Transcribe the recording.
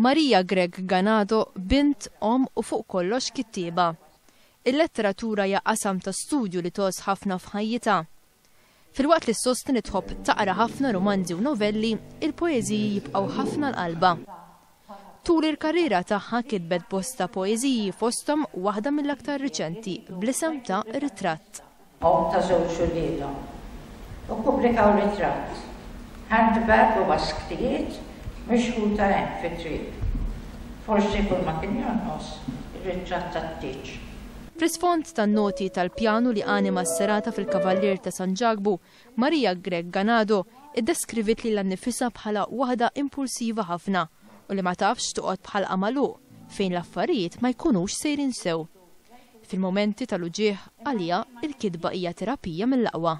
Maria Grech Ganado, bint, omm u fuq kollox kittieba. Il-letteratura hija qasam ta' studju li tgħożż ħafna f'ħajjitha. Filwaqt li ssostni li tħobb taqra ħafna rumanzi u novelli, il-poeżiji jibqgħu ħafna għal qalbha. Tul il-karriera tagħha kitbet bosta poeżiji fosthom waħda mill-aktar riċenti bl-isem ta' Ritratt. Omm ta' żewġ uliedhom u ppubblikaw ritratt, handbag u basktijiet mixħuta hemm fit-triq. Forsi kull ma kien jonqos ir-ritratt tat-tieġ. Fl-isfond tan-noti tal-pjanu li anima s-serata fil-Kavallier ta' San Ġakbu, Maria Grech Ganado iddeskriviet lilha nnifisha bħala waħda impulsiva ħafna u li ma tafx toqgħod b'ħalqha magħluq fejn l-affarijiet ma jkunux sejrin sew. Fil-mumenti tal-uġigħ, għaliha, il-kitba hija terapija mill-aqwa.